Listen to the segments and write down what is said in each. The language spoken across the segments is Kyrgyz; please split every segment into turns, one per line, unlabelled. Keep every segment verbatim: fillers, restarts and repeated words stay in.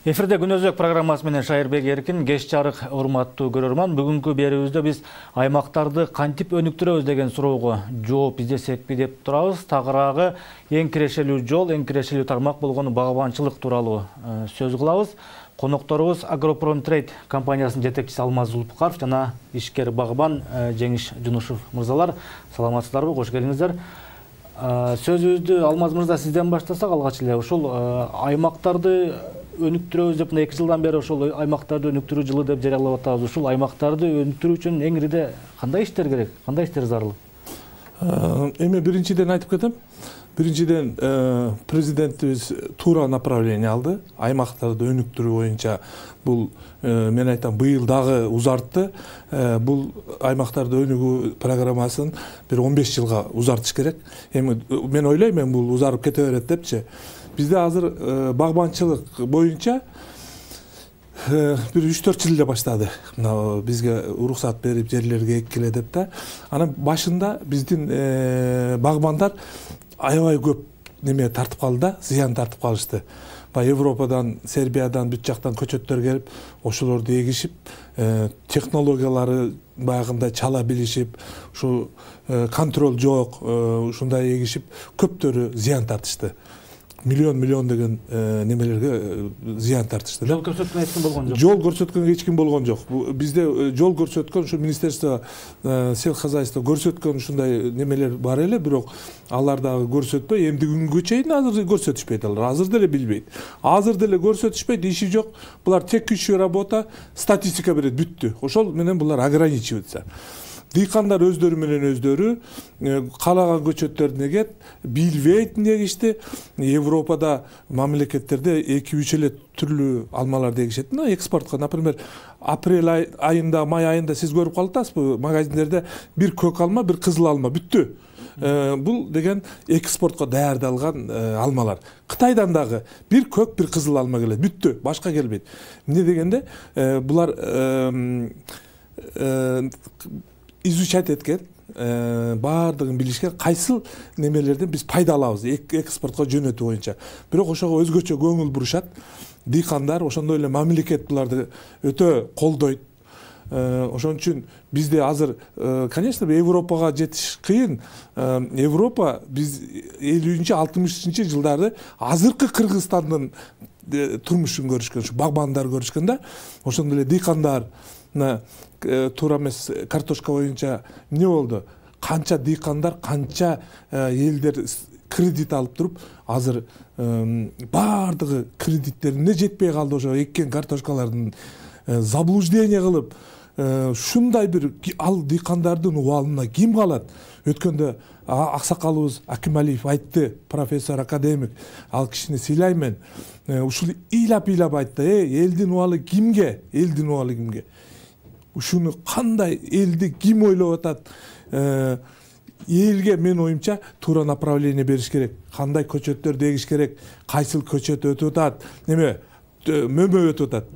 Эфирде Күн Өзөк программасы менен Шайырбек Эркин. Кеч жарык, урматтуу көрөрман. Бүгүнкү берүүбүздө биз аймактарды кантип өнүктүрөбүз деген суроого жооп издесекпи деп турабыз. Тагыраагы эң кирешелүү жол, эң кирешелүү тармак болгон багбанчылык тууралуу сөз кылабыз. Конокторубуз Агропромтрейд компаниясынын жетекчиси Алмаз Зулпукаров жана ишкер багбан Жеңиш Жунушев мырзалар. Саламатсыздарбы? Кош келиңиздер. Сөзүбүздү Алмаз мырза сизден баштасак алгач эле ушул аймактарды өнүктүрөбүз деп эки жылдан бери ошол аймактарды өнүктүрүү жылы деп жарыялап атабыз. Ушул аймактарды өнүктүрүү үчүн эң ириде кандай иштер керек? Кандай иштер зарыл?
Эми биринчиден айтып кетем. Биринчиден президентибиз туура направление алды. Аймактарды өнүктүрүү боюнча бул мен айтам быйыл дагы узартты. Бул аймактарды өнүгүү программасын бир он беш жылга узартыш керек. Эми мен ойлойм, мен бул узарып кете берет депчи. Бизде азыр багбанчылык боюнча бир үч төрт жыл эле баштады. Мына бизге уруксат берип жерлерге эккиле деп да. Анан башында биздин багбандар аябай көп неме тартып калды да, зыян тартып калышты. Баягы Европадан, Сербиядан, бүт жактан көчөттөр келип, ошолорду эгишип, технологиялары баягындай чала билишип, ушу контроль жок, ушундай эгишип, көптөрү зыян тартышты. Миллион миллион деген немелерге зыян тартышты.
Жол көрсөткөн эч ким болгон жок.
Жол көрсөткөн эч ким болгон жок. Бизде жол көрсөткөн ушу министерство сельхозхозяйства көрсөткөн ушундай немелер бар эле, бирок алар дагы көрсөтпөй, эмди күнгө чейин азыр көрсөтүшпөйт алар. Азыр деле билбейт. Азыр деле көрсөтүшпөйт, иши жок. Булар текущая работа, статистика берет, бүттү. Ошол менен булар ограничивается. Дыйкандар өздөрү менен өздөрү каалаган көчөттөрдү эгет, билбейт эмне эгишти. Европада мамлекеттерде эки үч эле түрлүү алмаларды эгишет. Мына экспортко, например, апрель айында, май айында сиз көрүп калатасызбы, магазиндерде бир көк алма, бир кызыл алма бүттү. Бул деген экспортко даярдалган алмалар. Кытайдан дагы бир көк, бир кызыл алма келет, бүттү, башка келбейт. Эмне дегенде булар изучать эткен, баардыгын билишкен, кайсыл немелерден биз пайда алабыз экспортко жөнөтүү боюнча. Бирок ошого өзгөчө көңүл бурушат. Дыйкандар, ошондой эле мамлекет буларды өтө колдойт. Ошон үчүн бизде азыр, конечно, Европага жетиш кыйын. Европа биз элүүнчү алтымышынчы жылдары азыркы Кыргызстандын турмушун көрүшкөн, ушу багбандар көрүшкөн да. Ошондой эле дыйкандар туура эмес картошка боюнча эмне болду? Канча дыйкандар, канча элдер кредит алып туруп, азыр баардыгы кредиттерине жетпей калды. Ошо эккен картошкалардын заблуждение кылып, ушундай бир ал дыйкандардын убалына ким калат? Өткөндө аксакалыбыз Акималиев айтты, профессор, академик, ал кишини сыйлайм. Ушул ыйлап-ыйлап айтты, э, элдин убалы кимге? Элдин убалы кимге? Ушуну кандай элди ким ойлоп атат? Элге мен оюмча туура направление бериш керек. Кандай көчөттөрдү эгиш керек? Кайсыл көчөт өтүп атат? Неме мөмө өтүп атат?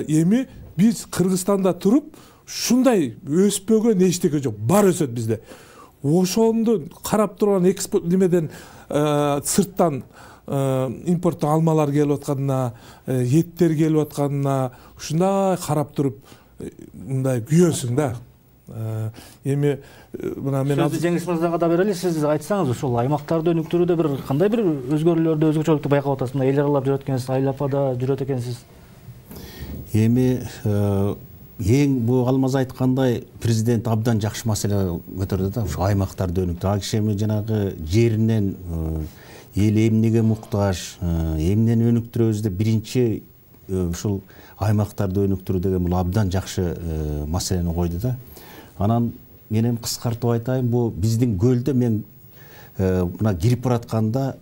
Эми биз Кыргызстанда туруп ушундай өспөгөн эчтеке жок. Бар өсөт бизде. Ошондо карап турган экспорт немеден сырттан импорттон алмалар келип атканына, еттер келип атканына ушундай карап туруп мындай күйөсүң да. Эми мына мен
азыр Жеңиш мырзага да берели, сиз айтсаңыз, ушул аймактарды өнүктүрүүдө бир кандай бир өзгөрүүлөрдү, өзгөчөлүктү байкап атасыз? Мына эл аралап жүрөт экенсиз, айлапада жүрөт экенсиз.
Эми эң бул Алмаз айткандай президент абдан жакшы маселе көтөрдү да, ушу аймактарды өнүктүрүү. Ал киши эми жанагы жеринен эл эмнеге муктаж, эмнени өнүктүрөбүз деп биринчи ушул аймактарды өнүктүрүү деген бул абдан жакшы маселени койду да. Анан мен эми кыскартып айтайын, бул биздин көлдө мен мына кирип баратканда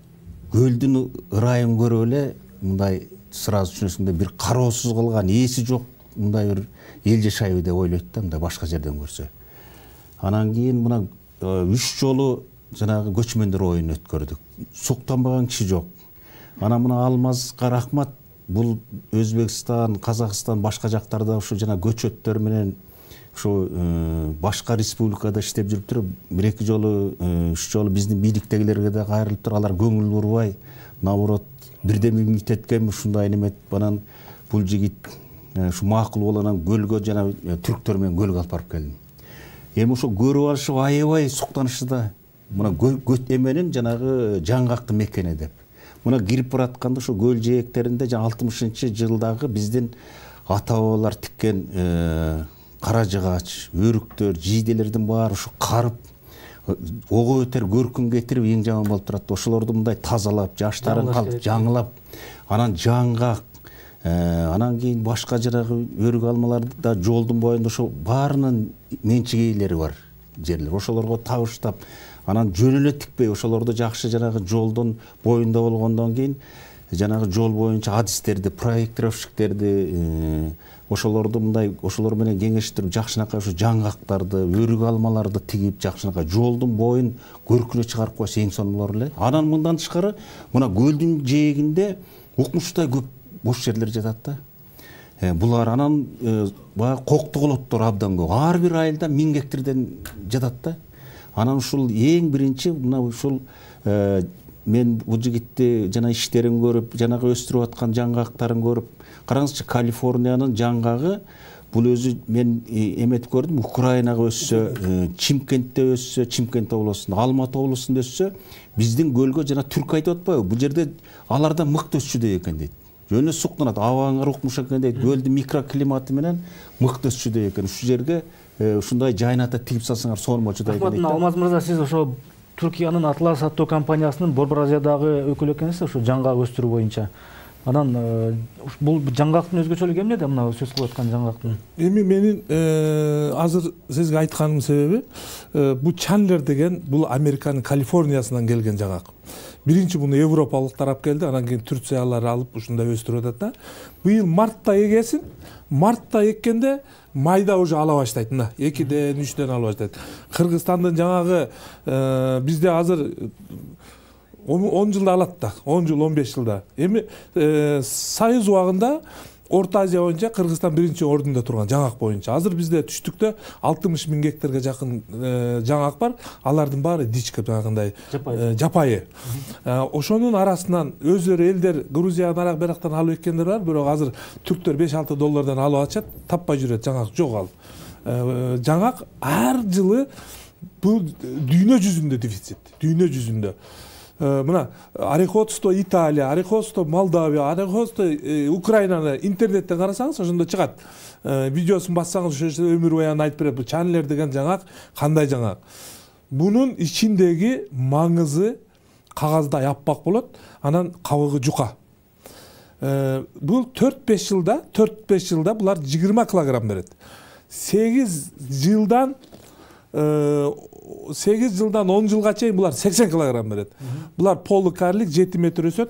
көлдүн ырайын көрүп эле мындай сразу түшүнөсүң, бир кароосуз калган, ээси жок мындай бир эл жашайбы деп ойлойт да, мындай башка жерден көрсө. Анан кийин мына үч жолу жанагы көчмөндөр оюн өткөрдүк. Суктанбаган киши жок. Анан мына Алмазга рахмат. Бул Өзбекстан, Казакстан, башка жактарда ушу жана көчөттөр менен ушу башка республикада иштеп жүрүп туруп бир эки жолу үч жолу биздин бийликтегилерге да кайрылып туруп алар көңүл бурбай, наоборот бирдеме үмүт эткенбиз ушундай неме анан бул жигит ушу макул болуп анан көлгө жана түрктөр менен көлгө алып барып келдим. Эми ошо көрүп алышып аябай суктанышты да. Мына көт эменин жанагы жаңгактын мекени деп. Мына кирип баратканда ошо көл жээктеринде жана алтымышынчы жылдагы биздин ата бабалар тиккен кара жыгач, өрүктөр, жийделердин баары ушу карып, ого өтөр көркүн кетирип эң жаман болуп турат. Ошолорду мындай тазалап, жаштарын калып жаңылап, анан жаңгак, анан кийин башка жанагы өрүк алмаларды да жолдун боюнда ошо баарынын менчик ээлери бар жерлер. Ошолорго табыштап, анан жөн эле тикпей, ошолорду жакшы жанагы жолдун боюнда болгондон кийин жанагы жол боюнча адистерди, проектировщиктерди, ошолорду мындай ошолор менен кеңештирип жакшынакай ошо жаңгактарды, өрүк алмаларды тигип жакшынакай жолдун боюн көркүнө чыгарып койсо эң сонун эле. Анан мындан тышкары мына көлдүн жээгинде укмуштай көп бош жерлер жатат да. Булар анан баягы коктуголоттор абдан көп. Ар бир айылда миң гектардан жатат да. Анан ушул эң биринчи мына ушул мен бул жигитти жана иштерин көрүп, жанагы өстүрүп аткан жаңгактарын көрүп, караңызчы, Калифорниянын жаңгагы бул өзү мен эметип көрдүм, Украинага өссө, Чимкентте өссө, Чимкент облусунда, Алматы облусунда өссө, биздин көлгө жана түрк айтып атпайбы, бул жерде алардан мыкты өсчүдөй экен дейт. Жөн эле суктанат, абаңар укмуш экен дейт. Көлдүн микроклиматы менен мыкты өсчүдөй экен. Ушул жерге ушундай жайната тигип салсаңар сонун болчудай экен дейт.
Алмаз мырза, сиз ошо Түркиянын Атлас аттуу компаниясынын Борбор Азиядагы өкүлү экенсиз, ошо жаңгак өстүрүү боюнча. Анан бул жаңгактын өзгөчөлүгү эмнеде, мына сөз кылып аткан жаңгактын?
Эми менин азыр сизге айтканымдын себеби, бул Чандлер деген бул Американын Калифорниясынан келген жаңгак. Биринчи муну европалыктар алып келди, анан кийин Турциялар алып ушундай өстүрүп атат да. Быйыл мартта эгесин, мартта эккенде майда уже ала баштайт. Мына экиден, үчтөн ала баштайт. Кыргызстандын жаңагы бизде азыр он жылда алат да, он жыл, он беш жылда. Эми Союз убагында Орто Азия боюнча Кыргызстан биринчи ордунда турган жаңгак боюнча. Азыр бизде түштүктө алтымыш миң гектарга жакын жаңгак бар. Алардын баары дичка, жанагындай жапайы. Ошонун арасынан өздөрү элдер Грузиядан арак берактан алып эккендер бар, бирок азыр түрктөр беш алты доллардан алып атышат, таппай жүрөт, жаңгак жок ал. Жаңгак ар жылы бул дүйнө жүзүндө дефицит, дүйнө жүзүндө. Мына Орехоцто Италия, Орехоцто Молдавия, Орехоцто Украинаны интернеттен карасаңыз ошондо чыгат. Видеосун бассаңыз ошо өмүр баянын айтып берет. Бул Чандлер деген жаңгак кандай жаңгак? Бунун ичиндеги маңызы кагаздай аппак болот, анан кабыгы жука. Бул төрт беш жылда, төрт беш жылда булар жыйырма килограмм берет. сегиз жылдан сегиз жылдан он жылга чейин булар сексен килограмм берет. Булар полукарлик жети метр өсөт.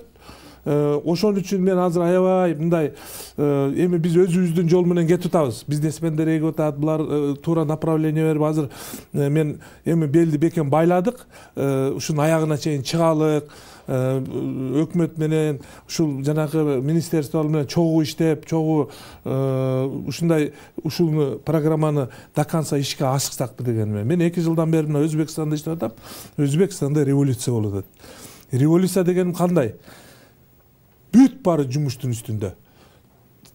Ошон үчүн мен азыр аябай мындай эми биз өзүбүздүн жол менен кетип атабыз. Бизнесмендер эгип атат, булар туура направление берип азыр мен эми белди бекем байладык. Ушунун аягына чейин чыгалык. Өкмөт менен ушул жанагы министерство менен чогуу иштеп, чогуу ушундай ушул программаны до конца ишке ашыксакпы дегенмен. Мен эки жылдан бери мына Өзбекстанда иштеп атам. Өзбекстанда революция болуп атат. Революция дегеним кандай? Бүт баары жумуштун үстүндө.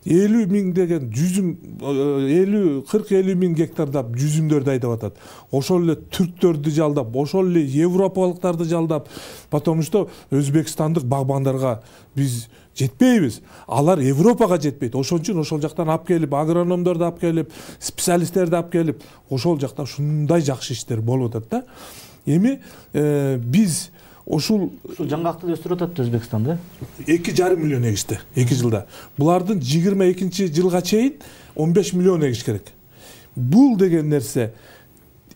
элүү миң деген жүзүм, элүү кырк элүү миң гектардап жүзүмдөрдү айдап атат. Ошол эле түрктөрдү жалдап, ошол эле европалыктарды жалдап, потому что өзбекстандык багбандарга биз жетпейбиз. Алар Европага жетпейт. Ошон үчүн ошол жактан алып келип, агрономдорду алып келип, специалисттерди алып келип, ошол жакта ушундай жакшы иштер болуп атат да. Эми биз ушул
жаңгакты өстүрүп атат Өзбекстанда.
эки жарым миллион эгишти эки жылда. Булардын жыйырма экинчи жылга чейин он беш миллион эгиш керек. Бул деген нерсе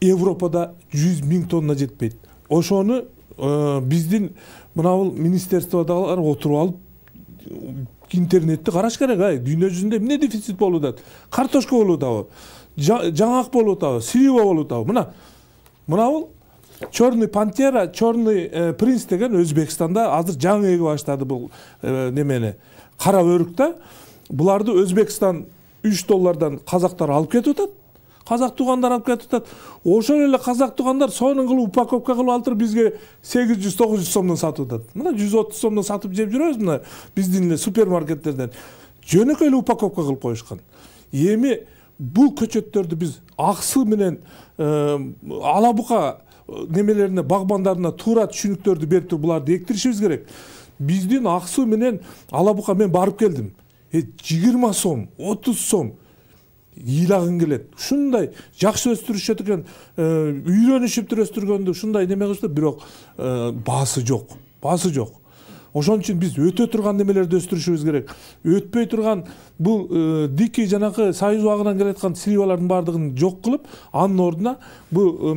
Европада жүз миң тонна жетпейт. Ошону биздин мынабул министерстводагылар отуруп алып интернетти караш керек. Ай, дүйнө жүзүндө эмне дефицит болуп атат? Картошка болуп атабы? Жаңгак болуп атабы? Слива болуп атабы? Мына мынабул Черный пантера, черный принц деген Өзбекстанда азыр жаңы эге баштады бул немени. Кара өрүк да. Буларды Өзбекстан үч доллардан казактар алып кетип атат. казак туугандар алып кетип атат. Ошол эле казак туугандар сонун кылып упаковка кылып алып туруп бизге сегиз жүз тогуз жүз сомдон сатып атат. Мына жүз отуз сомдон сатып жеп жүрөбүз мына биздин эле супермаркеттерден. Жөнөкөй эле упаковка кылып коюшкан. Эми бул көчөттөрдү биз аксы менен ала бука немелерине багбандарына туура түшүнүктөрдү берип туруп буларды эктиришибиз керек. Биздин аксы менен ала бука мен барып келдим. жыйырма сом, отуз сом ыйлагың келет. Ушундай жакшы өстүрүшөт экен, үйрөнүшүп туруп өстүргөндү ушундай неме кылышты, бирок баасы жок. Баасы жок. Ошон үчүн биз өтө турган немелерди өстүрүшүбүз керек. Өтпөй турган бул дикий жанакы союз убагынан келаткан сливалардын баардыгын жок кылып, анын ордуна бул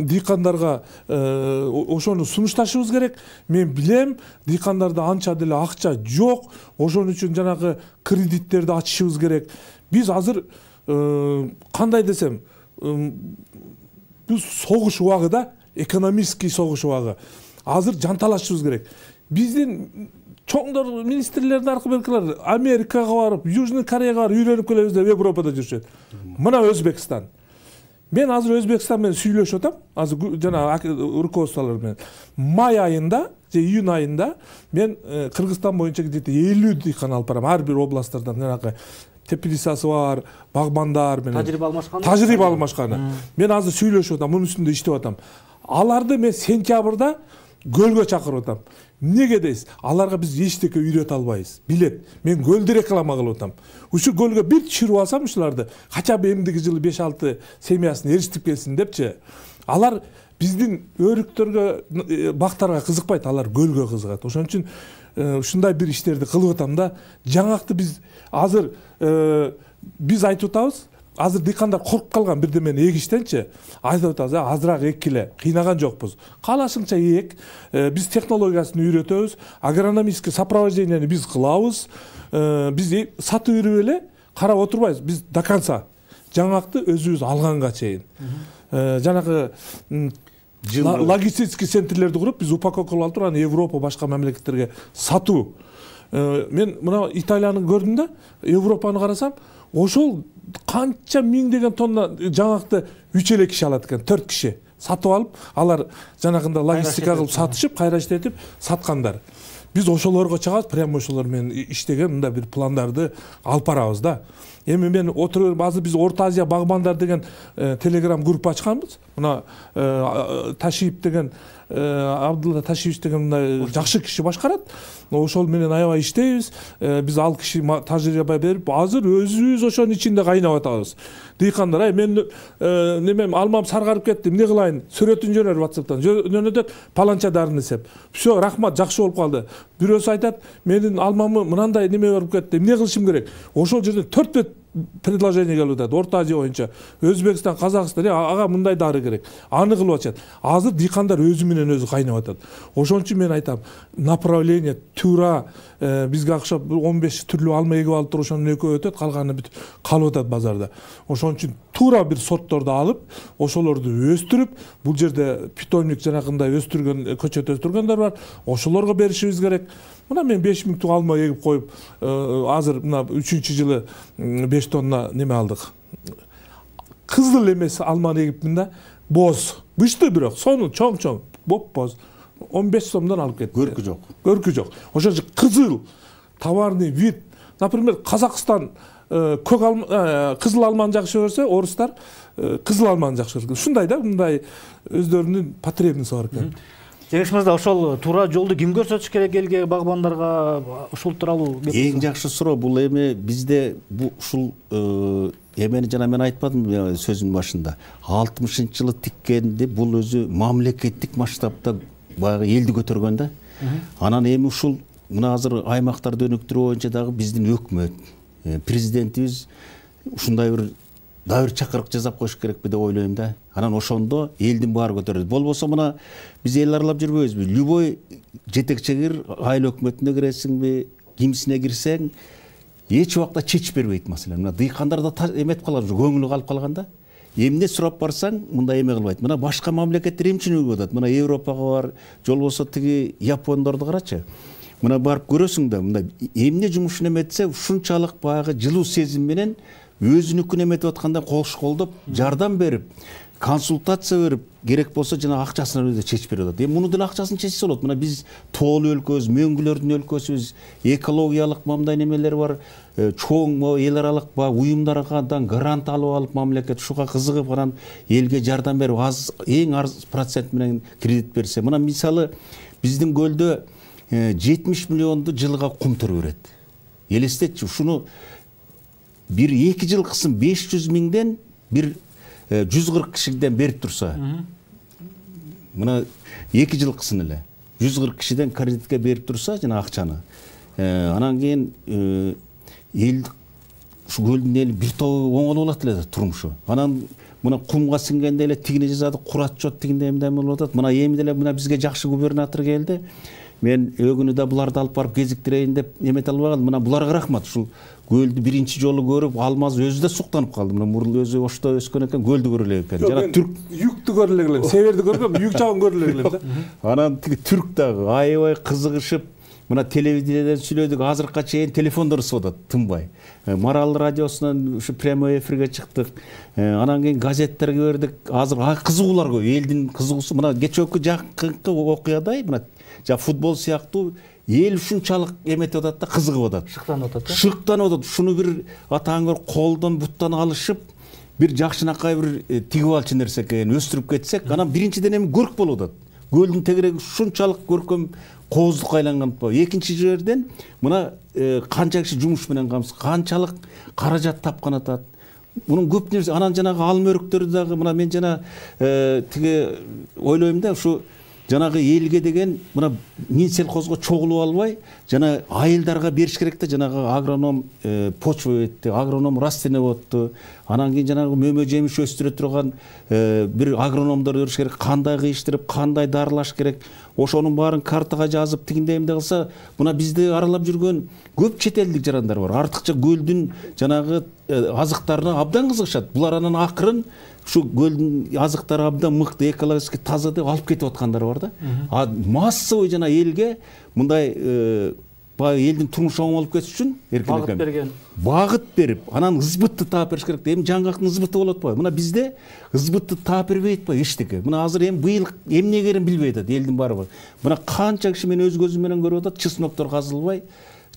дыйкандарга ошону сунушташыбыз керек. Мен билем, дыйкандарда анча деле акча жок. Ошон үчүн жанакы кредиттерди ачышыбыз керек. Биз азыр кандай десем, бул согуш убагы да, экономический согуш убагы. Азыр жанталашыбыз керек. Биздин чоңдор министрлердин аркыбелкилер Америкага барып, Южный Кореяга барып үйрөнүп келебиз деп Европада жүрүшөт. Мына Өзбекстан. Мен азыр Өзбекстан менен сүйлөшүп атам. Азыр жана руководстволор менен. Май айында же июнь айында мен Кыргызстан боюнча где-то элүү дыйкан алып барам. Ар бир областтардан жанагы теплицасы бар, багбандар менен
тажрыйба алмашкан.
Тажрыйба алмашканы. Мен азыр сүйлөшүп атам, мунун үстүндө иштеп атам. Аларды мен сентябрда көлгө чакырып атам. Эмнеге дейсиз? Аларга биз эчтеке үйрөтө албайбыз. Билет. Мен көлдү реклама кылып атам. Ушу көлгө бир түшүрүп алсам ушуларды, кача эмдиги жылы беш алты семьясын эриштип келсин депчи. Алар биздин өрүктөргө, бактарга кызыкпайт, алар көлгө кызыгат. Ошон үчүн ушундай бир иштерди кылып атам да. Жаңакты биз азыр биз айтып атабыз. Азыр дыйкандар коркуп калган бирдемени эгиштенчи. Айтып атабыз, азыраак эккиле, кыйнаган жокпуз. Каалашыңча эк, биз технологиясын үйрөтөбүз, агрономический сопровождениени биз кылабыз. Биз сатып берип эле карап отурбайбыз. Биз до конца жаңакты өзүбүз алганга чейин. Жанагы логистический центрлерди куруп, биз упаковка кылып алып туруп, аны Европа, башка мамлекеттерге сатуу. Мен мына Италияны көрдүм да, Европаны карасам, ошол канча миңдеген тонна жаңакты үч эле киши алат экен, төрт киши сатып алып, алар жанагында логистика кылып сатышып, кайра иштетип саткандар. Биз ошолорго чыгабыз, прямо ошолор менен иштеген мындай бир пландарды алып барабыз да. Эми мен отуруп азыр биз Орто Азия багбандар деген телеграм группа ачканбыз. Мына Ташиев деген Абдулла Ташиевич деген мындай жакшы киши башкарат. Ошол менен аябай иштейбиз. Биз ал киши тажрыйба берип, азыр өзүбүз ошонун ичинде кайнап атабыз. Дыйкандар, ай мен немем алмам саргарып кетти, эмне кылайын? Сүрөтүн жөнөр WhatsApp'тан. Жөнөтөт, паланча дарын эсеп. Всё, рахмат, жакшы болуп калды. Бирөөсү айтат, менин алмамы мынандай неме болуп кетти, эмне кылышым керек? Ошол жерден төрт бет предложение келип атат. Орто Азия боюнча Өзбекстан, Казакстан, ага мындай дары керек. Аны кылып атышат. Азыр дыйкандар өзү менен өзү кайнап атат. Ошон үчүн мен айтам, направление туура бизге окшоп он беш түрлүү алма эгип алып туруп, ошонун экөө өтөт, калганы бүт калып атат базарда. Ошон үчүн туура бир сортторду алып, ошолорду өстүрүп, бул жерде питомник жанагындай өстүргөн, көчөт өстүргөндөр бар. Ошолорго беришибиз керек. Мына мен беш миң тук алма эгип коюп, азыр мына үчүнчү жылы беш тонна неме алдык. Кызыл эмес алманы эгипмин да, боз. Бышты бирок, сону чоң-чоң, боп-боз. он беш сомдон алып кетти.
Көркү жок.
Көркү жок. Ошо кызыл товарный вид. Например, Казакстан көк алма, кызыл алманы жакшы көрсө, орустар кызыл алманы жакшы көрөт. Ушундай да, мындай өздөрүнүн потребносту бар экен.
Жеңиш мырза, ошол туура жолду ким көрсөтүш керек элге, багбандарга ушул тууралуу?
Эң жакшы суроо бул эми бизде бул ушул эмени жана мен айтпадым сөзүмдүн башында. алтымышынчы жылы тиккенди бул өзү мамлекеттик масштабта баягы элди көтөргөн да. Анан эми ушул мына азыр аймактарды өнүктүрүү боюнча дагы биздин өкмөт, президентибиз ушундай бир дагы бир чакырык жасап коюш керекпи деп ойлойм да. Анан ошондо элдин баары көтөрөлөт. Болбосо мына биз эл аралап жүрбөйбүзбү? Любой жетекчигир айыл өкмөтүнө киресиңби, кимисине кирсең, эч убакта чечип бербейт маселени. Мына дыйкандар да эметип калган, көңүлү калып калган да. Эмне сурап барсаң, мындай эме кылбайт. Мына башка мамлекеттер эмне үчүн үлгүп атат? Мына Европага бар, жолбосо тиги Япондорду карачы. Мына барып көрөсүң да, мындай эмне жумушун эметсе, ушунчалык баягы жылуу сезим менен өзүнүкүн эметип атканда кош колдоп жардам берип, консультация берип, керек болсо жана акчасын өзү чечип берип атат. Эми муну деле акчасын чечсе болот. Мына биз тоолуу өлкөбүз, мөңгүлөрдүн өлкөсүбүз, экологиялык мындай немелер бар, чоң эл аралык уюмдардан грант алып алып мамлекет ушуга кызыгып анан элге жардам берип, аз эң аз процент менен кредит берсе. Мына мисалы биздин көлдө жетимиш миллионду жылга кум төрө берет. Элестетчи, ушуну бир эки жыл кылсын беш жүз миңден бир жүз кырк кишиден берип турса, мына эки жыл кылсын эле жүз кырк кишиден кредитке берип турса жана акчаны, анан кийин эл ушу көлдүн эли бир тобу оңолуп алат эле турмушу. Анан мына кумга сиңгенде эле тигине жазады, курат жот дегенде эмне болуп атат. Мына эми деле мына бизге жакшы губернатор келди. Мен өгүнү да буларды алып барып кезиктирейин деп эмете албай калдым. Мына буларга рахмат. Ушул көлдү биринчи жолу көрүп, Алмаз өзү да суктанып калды. Мына мурул өзү Ошто өскөн экен, көлдү көрө элек экен.
Жана түрк юкту көрө элек элем. Северди көргөм, юк жагын көрө элек элем да.
Анан тиги түрк дагы аябай кызыгышып, мына телевидениеден сүйлөдүк, азыркыга чейин телефондор ысып атат, тынбай. Марал радиосунан ушу прямой эфирге чыктык. Анан кийин газеттерге бердик. Азыр кызыгуулар көп. Элдин кызыгуусу мына кечээки жакынкы окуядай, мына жа футбол сыяктуу эл ушунчалык эметип атат да, кызыгып атат.
Шыктанып атат.
Шыктанып атат. Шуну бир атаң бир колдон буттан алышып, бир жакшынакай бир тигип алчу нерсе экен, өстүрүп кетсек, анан биринчиден эми көрк болуп атат. Көлдүн тегереги ушунчалык көркөм кооздукка айланган. Экинчи жерден мына канча киши жумуш менен камсыз, канчалык каражат тапкан атат. Мунун көп нерсе, анан жанагы алма өрүктөрү дагы мына мен жана тиги ойлойм да, ушу жанагы элге деген мына Минсельхозго чогулуп албай, жана айылдарга бериш керек да, жанагы агроном почвоведти, агроном растениеводту, анан кийин жанагы мөмө жемиш өстүрө турган бир агрономдор бериш керек, кандай кыйыштырып, кандай дарылаш керек. Ошонун баарын картага жазып, тигиндей эмне кылса, мына бизди аралап жүргөн көп чет элдик жарандар бар. Артыкча көлдүн жанагы азыктарына абдан кызыгышат. Булар анан акырын ушу көлдүн азыктары абдан мыкты, экологически таза деп алып кетип аткандар бар да. А массовый жана элге мындай баягы элдин турмушу оңолуп кетиш үчүн
багыт берген.
Багыт берип, анан ызбытты таап бериш керек. Эми жаңгактын ызбыты болот атпайбы? Мына бизде ызбытты таап бербей атпайбы эчтеке. Мына азыр эми быйыл эмне керин билбей атат элдин баары. Мына канча киши мен өз көзүм менен көрүп атат, чесноктор казылбай,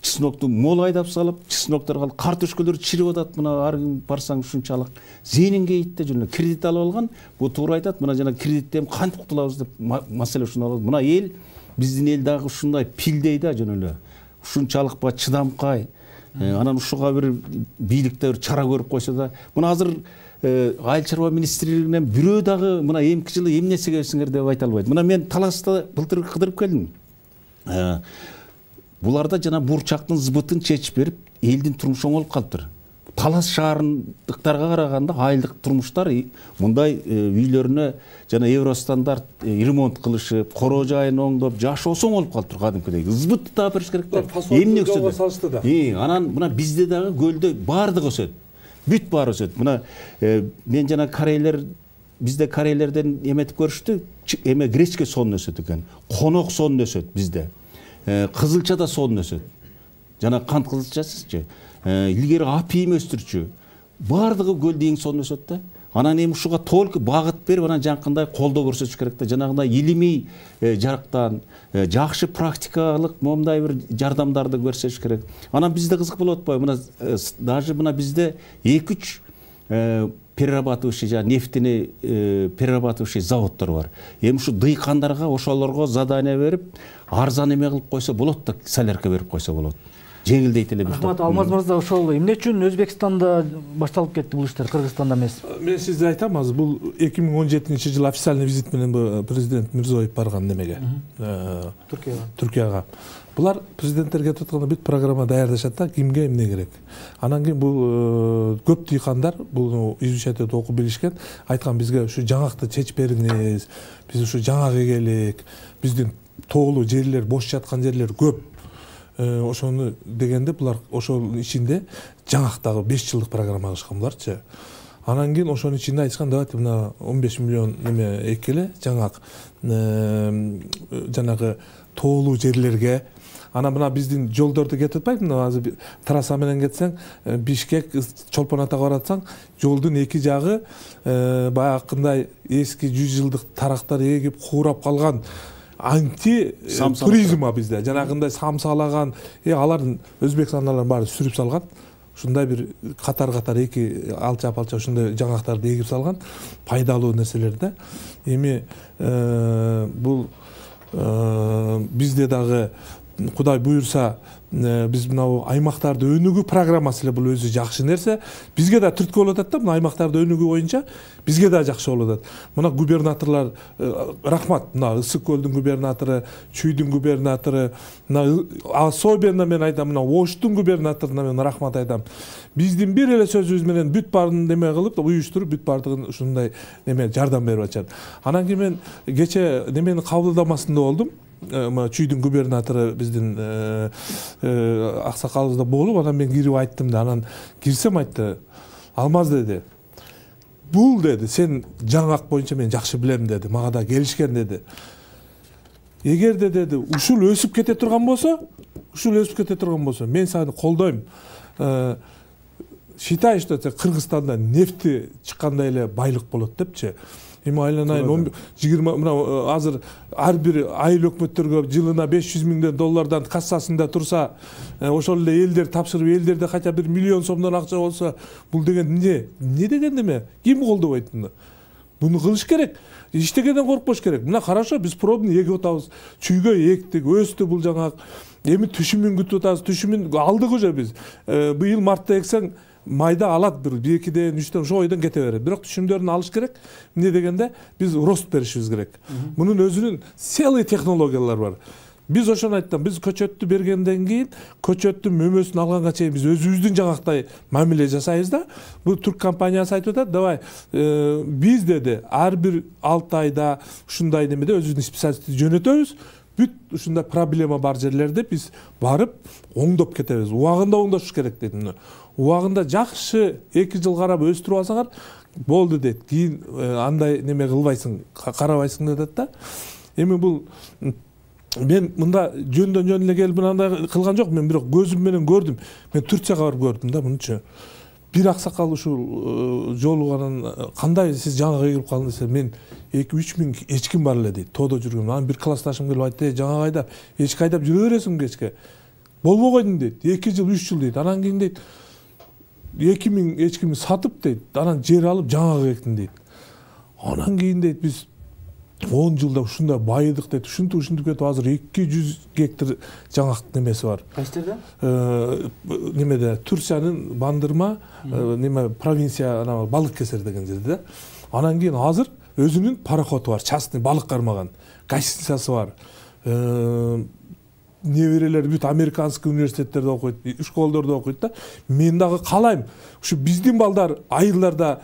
чеснокту мол айдап салып, чеснокторго картошкалар чирип атат. Мына ар ким барсаң ушунчалык зенинге итте жөн кредит алып алган. Бу туура айтат. Мына жана кредиттен кантип кутулабыз деп маселе ушунда болот. Мына эл, биздин эл дагы ушундай пилдей да жөн эле. Ушунчалык ба чыдамкай. Анан ушуга бир бийликте бир чара көрүп койсо да, мына азыр айыл чарба министрлигинен бирөө дагы мына эмки жылы эмне себепсиңер деп айта албайт. Мына мен Таласта былтыр кыдырып келдим. Буларда жана бурчактын збытын чечип берип, элдин турмушу оңолуп калыптыр. Талас шаарындыктарга караганда айылдык турмуштар мындай үйлөрүнө жана евростандарт ремонт кылышып, короо жайын оңдоп, жашоосу оңолуп калыптыр кадимкидей. Збытты таап бериш керек да. Эмне өсөдү? И, анан мына бизде дагы көлдө баардыгы өсөт. Бүт баары өсөт. Мына мен жана корейлер, бизде корейлерден эметип көрүштү, эме гречке сонун өсөт экен. Конок сонун өсөт бизде. Кызылча да сонун өсөт. Жана кант кызылчасычы. Илгери апийим өстүрчү. Баардыгы көлдө эң сонун өсөт да. Анан эми ушуга только багыт берип, анан жанакындай колдоо көрсөтүш керек да. Жанагындай илимий жарыктан жакшы практикалык момундай бир жардамдарды көрсөтүш керек. Анан бизде кызык болуп атпайбы? Мына даже мына бизде эки үч перерабатывающий жана нефтяный перерабатывающий заводдор бар. Эми ушу дыйкандарга ошолорго задание берип, арзан эме кылып койсо болот да, солярка берип койсо болот. Жеңилдейт эле бир.
Рахмат, Алмаз мырза, ошол эмне үчүн Өзбекстанда башталып кетти бул иштер, Кыргызстанда эмес?
Мен сизге айтам, азыр бул эки миң он жетинчи жылы официальный визит менен президент Мирзиёев барган немеге.
Түркияга.
Түркияга. Булар президенттер кетип атканда бүт программа даярдашат да, кимге эмне керек. Анан кийин бул көп дыйкандар бул изучать этип окуп билишкен, айткан бизге ушу жаңакты чечип бериңиз, биз ушу жаңак эгелик, биздин тоолуу жерлер, бош жаткан жерлер көп. Ошону дегенде булар ошол ичинде жаңактагы беш жылдык программа кылышкан буларчы. Анан кийин ошонун ичинде айтышкан, давайте мына он беш миллион неме экеле жаңак жанагы тоолуу жерлерге, Ана мына биздин жолдорду кетип атпайбы, мына азыр трасса менен кетсең, Бишкек, Чолпон Атага баратсаң, жолдун эки жагы баягындай эски жүз жылдык тарактар эгип куурап калган анти туризм бизде. Жанагындай самсалаган, алардын Өзбекстандагылардын баары сүрүп салган. Ушундай бир катар-катар эки алча-палча ушундай жаңактарды эгип салган, пайдалуу нерселерди. Эми бул бизде дагы Кудай буйрса биз мына аймактарды өнүгүү программасы эле бул өзү жакшы нерсе. Бизге да түрткү болуп атат да, мына аймактарды өнүгүү боюнча бизге да жакшы болуп атат. Мына губернаторлор рахмат, мына Ысык көлдүн губернатору, Чүйдүн губернатору, мына особенно мен айтам, мына Оштун губернаторуна мен рахмат айтам. Биздин бир эле сөзүбүз менен бүт баарын неме кылып, уюштуруп, бүт баардыгын ушундай неме жардам берип атышат. Анан кийин мен кече немени кабылдамасында болдум. Чүйдүн губернатору биздин аксакалыбызда болуп, анан мен кирип айттым да, анан кирсем айтты, Алмаз деди, бул деди, сен жаңак боюнча мен жакшы билем деди, мага да келишкен деди. Эгерде деди, ушул өсүп кете турган болсо, ушул өсүп кете турган болсо, мен сени колдойм. Считай, что Кыргызстанда нефти чыккандай эле байлык болот депчи. Эми айланайын жыйырма мына азыр ар бир айыл өкмөттөргө жылына беш жүз миң доллардан кассасында турса, ошол эле элдер тапшырып, элдерде кача бир миллион сомдон акча болсо, бул деген эмне? Эмне деген эме? Ким колдобойт муну? Буну кылыш керек. Иштегенден коркпош керек. Мына хорошо, биз пробный эгип атабыз. Чүйгө эктик, өстү бул жаңак. Эми түшүмүн күтүп атабыз. Түшүмүн алдык уже биз. Быйыл мартта эксең, майда алат бир экиден, үчтөн ошо ойдон кете берет. Бирок түшүмдөрүн алыш керек. Эмне дегенде биз рост беришибиз керек. Мунун өзүнүн целый технологиялар бар. Биз ошону айттым, биз көчөттү бергенден кийин, көчөттүн мөмөсүн алганга чейин биз өзүбүздүн жаңактай мамиле жасайбыз да. Бул турк компаниясы айтып атат, давай биз деди, ар бир алты айда ушундай немеде өзүбүздүн специалистти жөнөтөбүз. Бүт ушундай проблема бар жерлерде биз барып оңдоп кетебиз. Убагында оңдош керек деди. Убагында жакшы эки жыл карап өстүрүп алсаңар болду дейт. Кийин андай неме кылбайсың, карабайсың дедет да. Эми бул мен мында жөндөн жөн эле келип мындай кылган жок, мен бирок көзүм менен көрдүм. Мен Турцияга барып көрдүм да мунчу. Бир аксакал ушул жолуганан кандай сиз жаңага келип калдыңыз десе, мен эки үч миң эчким бар эле дейт. Тоодо жүргөм. Анан бир классташым келип айтты, жаңа айдап, эчки айдап жүрө бересиң кечке. Болбой койдум дейт. эки жыл, үч жыл дейт. Анан кийин дейт, эки миң эчкими сатып дейт, анан жер алып жаңага эктим дейт. Анан кийин дейт, биз он жылда ушундай байыдык дейт. Ушинтип ушинтип кетип азыр эки жүз гектар жаңак немеси бар.
Кайсы жерде?
Немеде, Турциянын Бандырма неме провинция ана балык кесер деген жерде. Анан кийин азыр өзүнүн пароходу бар, частный балык кармаган, гостиницасы бар. Неберелер бүт американский университеттерде окуйт, школдордо окуйт да. Мен дагы каалайм, ушу биздин балдар айылдарда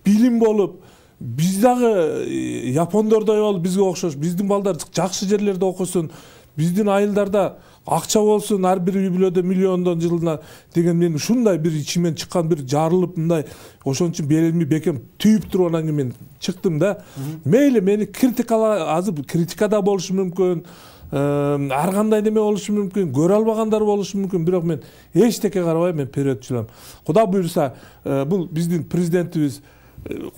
билим болуп, биз дагы япондордой болуп бизге окшош, биздин балдар жакшы жерлерде окусун, биздин айылдарда акча болсун, ар бир үй бүлөдө миллиондон жылына деген мен ушундай бир ичимен чыккан бир жарылып мындай ошон үчүн белимди бекем түйүп туруп анан кийин мен чыктым да. Мейли мени критикала, азыр критикада болушу мүмкүн, ар кандай неме болушу мүмкүн, көрө албагандар болушу мүмкүн, бирок мен эчтеке карабай, мен вперед жүрөм. Кудай буйрса, бул биздин президентибиз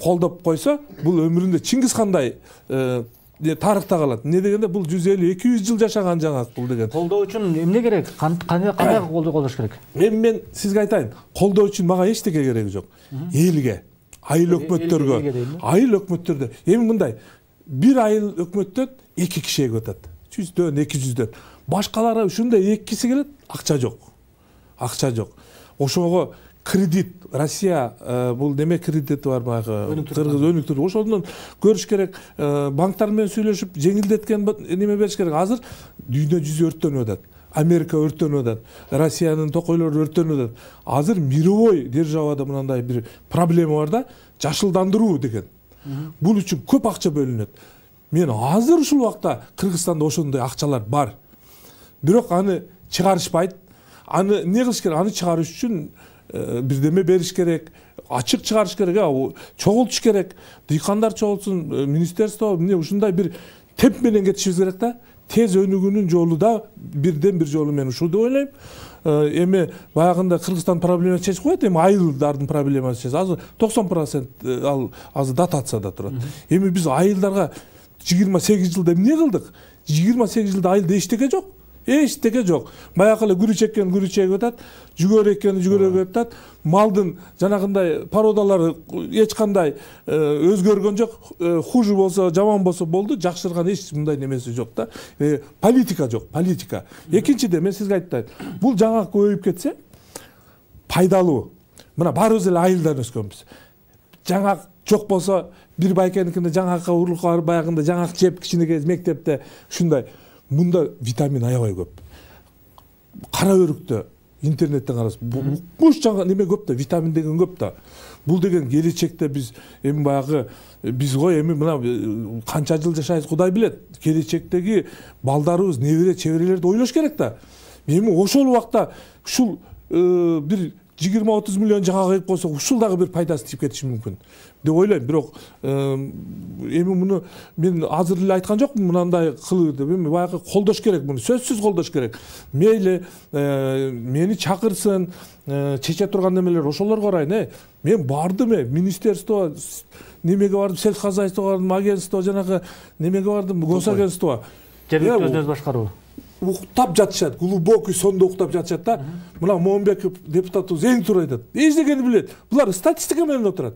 колдоп койсо, бул өмүрүндө Чингиз хандай тарыхта калат. Эмне дегенде бул жүз элүү эки жүз жыл жашаган жаңак бул деген.
Колдоо үчүн эмне керек? Кандай кандай колдоо колдош керек?
Мен мен сизге айтайын, колдоо үчүн мага эчтеке кереги жок. Элге, айыл өкмөттөргө, айыл өкмөттөрдө. Эми мындай, бир айыл өкмөттөн эки киши эгип атат. жүздөн, эки жүздөн. Башкалары ушундай эккиси келет, акча жок. Акча жок. Ошого кредит, Россия бул неме кредити бар баягы Кыргыз өнүктүрүү. Ошондон көрүш керек, банктар менен сүйлөшүп, жеңилдеткен неме бериш керек. Азыр дүйнө жүзү өрттөнүп атат. Америка өрттөнүп атат. Россиянын токойлору өрттөнүп атат. Азыр мировой державада мындай бир проблема бар да, жашылдандыруу деген. Бул үчүн көп акча бөлүнөт. Мен азыр ушул убакта Кыргызстанда ошондой акчалар бар. Бирок аны чыгарышпайт. Аны эмне кылыш керек? Аны чыгарыш үчүн бирдеме бериш керек, ачык чыгарыш керек, чогултуш керек. Дыйкандар чогултсун, министерство эмне ушундай бир темп менен кетишибиз керек да. тез өнүгүүнүн жолу да бирден бир жолу мен ушул деп ойлойм. Эми баягында Кыргызстан проблемасын чечип коет, эми айылдардын проблемасын чечет. Азыр токсон процент ал азыр дотацияда турат. Эми биз айылдарга жыйырма сегиз жылда эмне кылдык? жыйырма сегиз жылда айылда эчтеке жок. Эчтеке жок. Баягы эле күрүч эккен күрүч эгип атат, жүгөр эккен жүгөр эгип атат. Малдын жанагындай породалары эч кандай өзгөргөн жок. Хуже болсо, жаман болсо болду, жакшырган эч мындай немеси жок да. Политика жок, политика. Экинчиден мен сизге айтайын. Бул жаңак көбөйүп кетсе пайдалуу. Мына баарыбыз эле айылдан өскөнбүз. Жаңак жок болсо бир байкеникинде жаңакка урулукка барып баягында жаңак жеп кичинекей мектепте ушундай. Мында витамин аябай көп. Кара өрүктө интернеттен караса буш жаңа неме көп да, витамин деген көп да. Бул деген келечекте биз эми баягы биз го эми мына канча жыл жашайбыз Кудай билет. Келечектеги балдарыбыз, небере чеберелерди ойлош керек да. Эми ошол убакта ушул бир жыйырма отуз миллион жаңа кыйып койсок, ушул дагы бир пайдасы тип кетиши мүмкүн деп ойлойм. Бирок эми муну мен азыр эле айткан жокмун мынандай кылы деп. Эми баягы колдош керек муну, сөзсүз колдош керек. Мейли мени чакырсын, чече турган немелер ошолорго карайын, э. Мен бардым, э, министерство немеге бардым, сельхозхозяйствого бардым, агентство жанагы немеге бардым, госагентство.
Жергиликтүү өзүнүз башкаруу.
Уктап жатышат, глубокий сонда уктап жатышат да. Мына Момбеков депутатыбыз эң туура айтат. Эч дегени билет. Булар статистика менен отурат.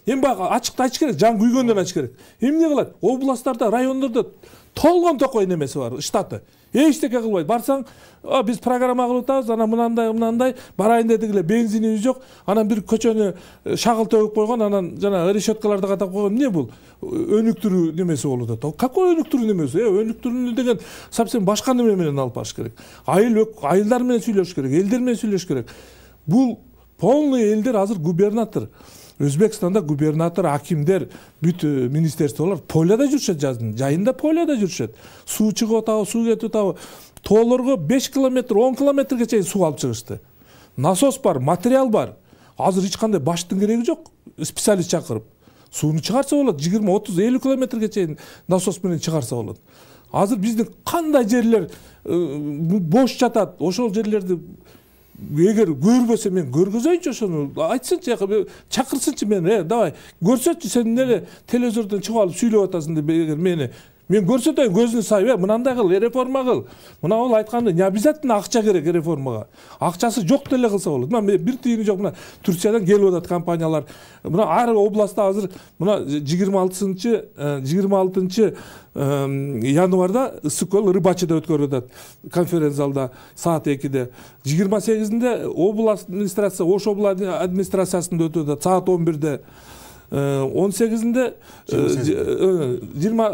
Эми баягы ачыкты айтыш керек, жан күйгөндөн айтыш керек. Эмне кылат? Областтарда, райондордо толгон токой немеси бар, штаты. Эчтеке кылбайт. Барсаң, биз программа кылып атабыз, анан мынандай, мынандай, барайын дедик эле, бензинибиз жок. Анан бир көчөнү шагыл төгүп койгон, анан жана решеткаларды катап койгон. Эмне бул? Өнүктүрүү немеси болуп атат. Какой өнүктүрүү немеси? Э, өнүктүрүүнү деген совсем башка неме менен алып барыш керек. Айыл айылдар менен сүйлөшүш керек, элдер менен сүйлөшүш керек. Бул полный элдер азыр губернатор. Өзбекстанда губернатор, акимдер, бүт министерстволор поляда жүрүшөт, жаздын жайында поляда жүрүшөт. Суу чыгып атабы, суу кетип атабы. Тоолорго беш километр, он километрге чейин суу алып чыгышты. Насос бар, материал бар. Азыр эч кандай баштын кереги жок. Специалист чакырып сууну чыгарса болот. жыйырма, отуз, элүү километрге чейин насос менен чыгарса болот. Азыр биздин кандай жерлер бош жатат, ошол жерлерди эгер көрбөсө мен көргөзөйүнчү, ошону айтсынчы, чакырсынчы мени, э, давай көрсөтчү, сен эле телевизордон чыгып алып сүйлөп атасың деп эгер мени мен көрсөтөйүн, көзүнү сайып, э, мынандай кыл, реформа кыл. Мына ол айтканда не обязательно акча керек реформага. Акчасы жок деле кылса болот. Мына бир тыйыны жок. Мына Турциядан келип атат компаниялар. Мына ар областта азыр мына жыйырма алтынчы жыйырма алтынчы январда ысык көл Рыбачыда өткөрүлүп атат конференц залда саат экиде. жыйырма сегизинде область администрация, Ош область администрациясында өтүп атат саат он бирде. он сегизинде жыйырма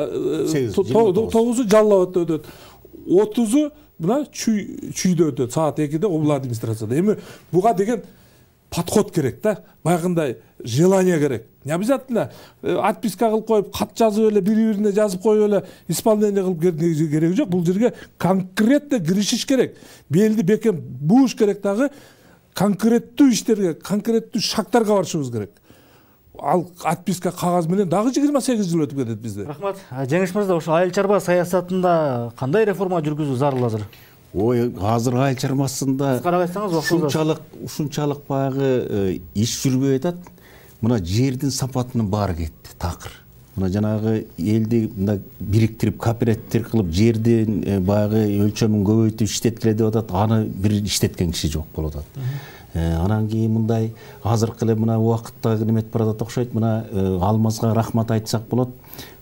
тогузу Жалал абадта өтөт. отузу мына Чүйдө өтөт саат экиде область администрацияда. Эми буга деген подход керек да. Баягындай желание керек. Не обязательно отписка кылып коюп, кат жазып эле бири-бирине жазып коюп эле исполнение кылып кереги жок. Бул жерге конкретно киришиш керек. Белди бекем бууш керек дагы, конкреттүү иштерге, конкреттүү шагтарга барышыбыз керек. Ал отписка кагаз менен дагы жыйырма сегиз жыл өтүп кетет бизде.
Рахмат. Жеңиш мырза, ошо айыл чарба саясатында кандай реформа жүргүзүү зарыл азыр?
Ой, азыр айыл чарбасында
карап айтсаңыз,
ушунчалык, ушунчалык баягы иш жүрбөй атат. Мына жердин сапатынын баары кетти, такыр. Мына жанагы элди мында бириктирип, кооперативдер кылып, жердин баягы өлчөмүн көбөйтүп иштеткиле деп атат. Аны бир иштеткен киши жок болуп атат. Анан кийин мындай азыркы эле мына убакытта неметип баратат окшойт. Мына Алмазга рахмат айтсак болот.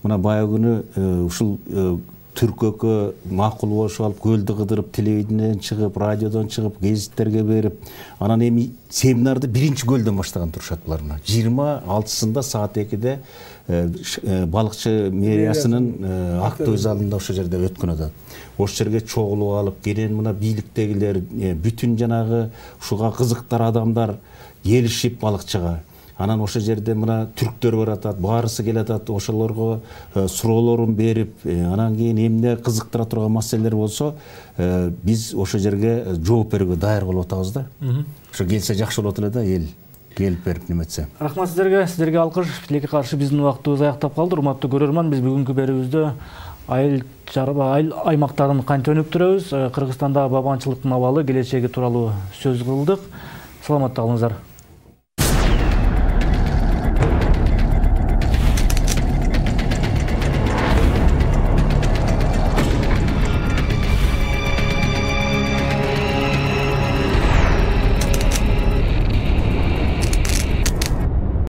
Мына баягы күнү ушул Түркөккө макул болушуп алып, көлдү кыдырып, телевидениеден чыгып, радиодон чыгып, гезиттерге берип, анан эми семинарды биринчи көлдөн баштаган турушат булар. Мына жыйырма алтысында саат экиде балыкчы мэриясынын актовый залында ошол жерде өткөн атат. Ошол жерге чогулуп алып, кенен мына бийликтегилер, бүтүн жанагы ушуга кызыктар адамдар келишип балыкчыга. Анан ошол жерде мына түрктөр бар атат, баарысы келет атат, ошолорго суроолорун берип, анан кийин эмне кызыктыра турган маселелер болсо, биз ошол жерге жооп берүүгө даяр болуп атабыз да. Ошо келсе жакшы болот эле да, эл келип берип неметсе.
Рахмат сиздерге, сиздерге алкыш. Тилекке каршы биздин убактыбыз аяктап калды. Урматтуу көрөрман, биз бүгүнкү берүүбүздө айыл айыл аймактарын кантип өнүктүрөбүз, Кыргызстанда бабанчылыктын абалы келечеги тууралуу сөз кылдык. Саламатта калыңыздар.